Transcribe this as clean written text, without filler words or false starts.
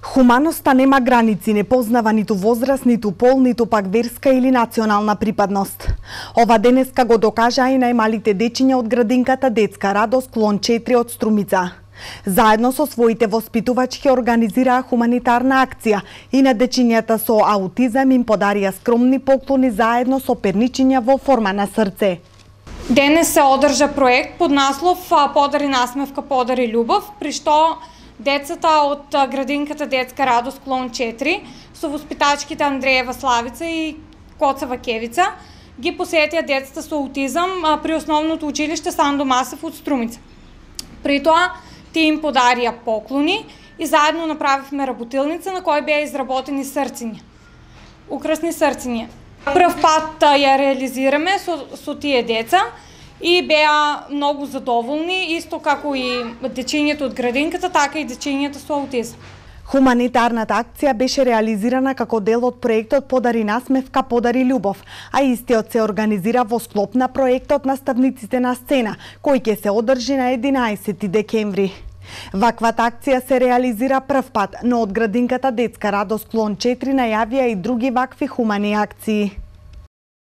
Хуманоста нема граници, не познава ниту возраст, ниту пол, ниту пак верска или национална припадност. Ова денеска го докажаа и најмалите дечиња од градинката Детска радост клон 4 од Струмица. Заедно со своите воспитувачки организираа хуманитарна акција и на дечињата со аутизам им подарија скромни поклони заедно со перничиња во форма на срце. Денес се одржа проект под наслов "Подари насмевка, подари љубов", при што децата од градинката Детска радост клон 4 со воспитачките Андреева Славица и Коцева Кевица ги посетија децата со аутизам при основното училиште Сандо Масев од Струмица. При тоа тие им подарија поклони и заедно направивме работилница на која беа изработени срциња. Украсни срциња. Прв пат ја реализираме со тие деца и беа многу задоволни, исто како и дечињата од градинката, така и дечињата со аутизам. Хуманитарната акција беше реализирана како дел од проектот "Подари насмевка, подари љубов", а истиот се организира во склоп на проектот Наставниците на сцена, кој ќе се одржи на 11 декември. Ваквата акција се реализира прв пат, но од градинката Детска радост клон 4 најавија и други вакви хумани акции.